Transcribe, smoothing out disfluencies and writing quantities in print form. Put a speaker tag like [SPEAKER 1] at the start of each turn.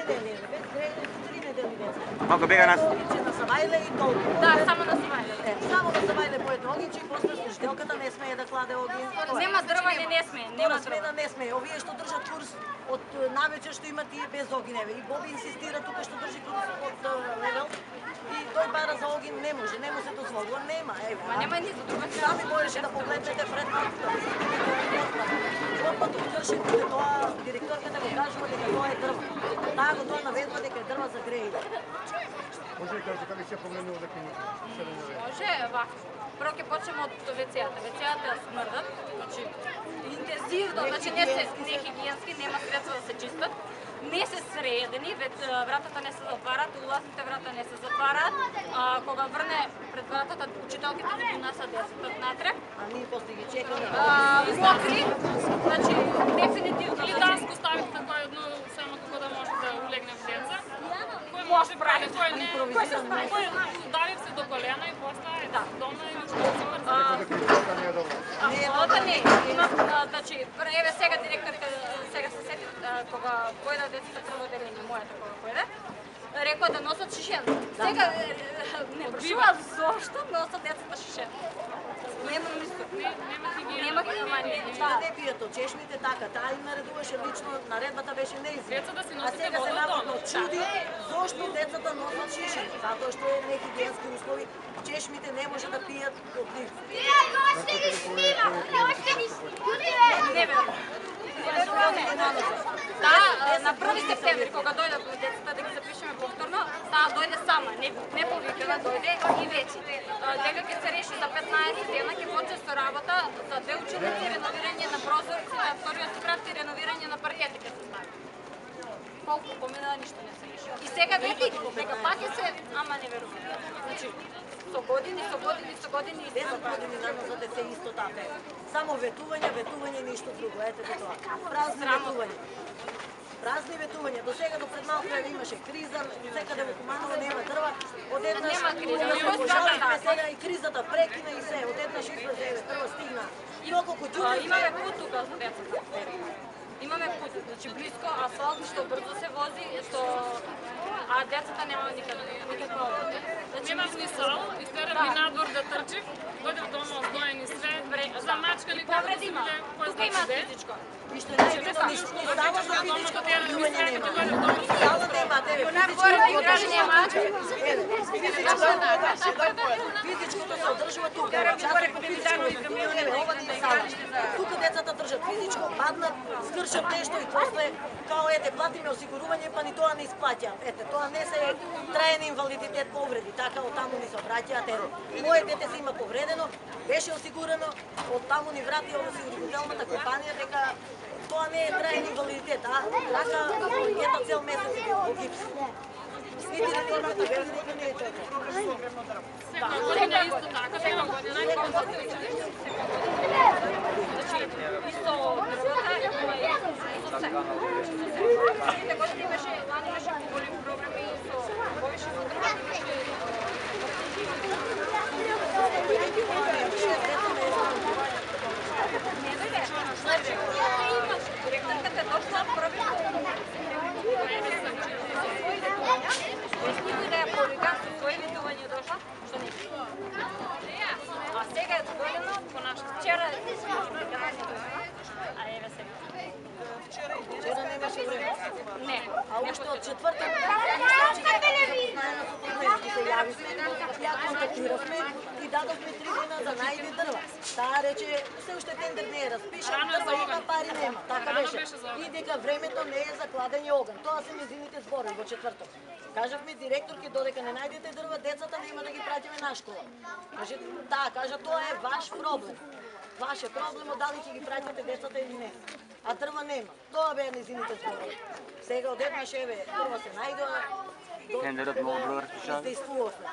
[SPEAKER 1] 3 недели деца.
[SPEAKER 2] Малку бега нас.
[SPEAKER 1] На Савајле и толку.
[SPEAKER 3] Да, само на Савајле.
[SPEAKER 1] Само на Савајле поет огинче и после служителката не смее да кладе огин.
[SPEAKER 3] Нема дрвање, не смее, нема
[SPEAKER 1] смена не смее. Овие што држат курс од навечер што има тие без огин, еве. И Боби инсистира тука што држи курс од левел. И тој бара за огин не може се дозволува, нема, еве.
[SPEAKER 3] Ма нема ни за друга.
[SPEAKER 1] Сами можеше да погледнете пред малката. Опат кршите тоа, директорката го кажува дека тоа е дрво. Таа го тоа наведува дека е дрва за грејле.
[SPEAKER 4] Може ли кажете како ќе погледнува дека
[SPEAKER 3] може, вака. Прво ќе почнеме од WC-ата. WC-ата смрдат, значи интензивно, значи не хигиенски, нема средства да се чистат. Не се средени, вратата не се затварат, улазните врата не се затварат. Кога врне пред вратата учителките ги донасат децата натрек.
[SPEAKER 1] А ние после ги чекаме.
[SPEAKER 3] Мокри, значи дефинитивно.
[SPEAKER 5] Или данско ставите така едно само како да може да улегне в деца. Кој може прави, кој не. Кој удари се до колена и после да, дома и ништо се мрзи.
[SPEAKER 3] Апсолутно не. Има, значи, еве сега директорка сега се сети кога појде децата прво делење, мојата кога појде, рекоа да носат шишен. Сега не прашува зошто носат децата шишен. Нема ништо. Нема хигиена.
[SPEAKER 1] Да, не пијат од чешмите така, таа им наредуваше лично, наредбата беше неизвестна.
[SPEAKER 5] Деца да си
[SPEAKER 1] А
[SPEAKER 5] носите
[SPEAKER 1] сега се
[SPEAKER 5] вода
[SPEAKER 1] наводно
[SPEAKER 5] дома.
[SPEAKER 1] чуди зошто децата носат шишени, затоа што е нехигиенски услови, чешмите не може да пијат од нив.
[SPEAKER 3] Не верувам. Таа на 1 септември кога дојде децата да ги запишеме повторно, таа дојде сама, не повикана, дојде и вече. Дека ќе се реши за 15 дена, ќе почне со работа за 2 ученици, реновирање на прозорци, на вториот спрат и реновирање на паркети ќе се стави. Колку помина ништо не се реши. И сега вети дека пак ќе се, ама не верувам. Значи, со години и
[SPEAKER 1] 10 години назад е се исто така. Само ветување, ништо друго. Ете тоа. Празни ветување. Празни ветувања. До сега до пред малку имаше криза, секаде во Куманово нема дрва. Одеднаш
[SPEAKER 3] нема криза.
[SPEAKER 1] Пожалихме сега и кризата прекина и се. Одеднаш излезе дрва стигна. И околку ѓуби.
[SPEAKER 3] Имаме пут тука за децата. Имаме пут, значи близко асфалт што брзо се вози, што а децата нема никаква.
[SPEAKER 5] Немам ни сал, истерам ми надвор да трчим, дојдев дома оздоени све, замачкани
[SPEAKER 3] повреди има. Тука има физичко.
[SPEAKER 1] И што не става за физичко повредување нема. Става нема, тебе физичкото се одржува тука. Тука децата држат физичко, паднат, скршат нешто и после као ете платиме осигурување, па ни тоа не исплаќаат. Ете, тоа не се траен инвалидитет повреди, така од таму ни се обраќаат. Моје дете се има повредено, беше осигурено, од таму ни врати осигурителната компанија дека тоа не е траен инвалидитет, а така ета цел месец во гипс. Нити реформата без дека не е така.
[SPEAKER 5] Секоја година исто така, секоја година и
[SPEAKER 3] Значи, исто дрвата, ама и со се. Сите години имаше, лани имаше поголеми проблеми со повише со дрвата, имаше не дојде. Значи, директорката дошла први никој да ја повика со своји ветување дошла, што не. А сега е дојдено по нашата. Вчера а еве сега.
[SPEAKER 1] Вчера немаше време.
[SPEAKER 3] Не.
[SPEAKER 1] А уште од четвртак се јавивме, ја контактиравме и дадовме 3 дена да најде дрва. Таа рече, се уште тендер не е распишан, дрва има, пари нема. Така беше. И дека времето не е за кладење оган. Тоа се нејзините зборови во четврток. Кажавме директорке, додека не најдете дрва, децата нема да ги праќаме на школа. Каже, кажа, тоа е ваш проблем. Ваш е проблем, дали ќе ги праќате децата или не. А дрва нема. Тоа беа нејзините зборови. Сега одеднаш еве, дрва се најдоа.
[SPEAKER 2] Тендерот многу бро распишан.
[SPEAKER 1] Издействувавме.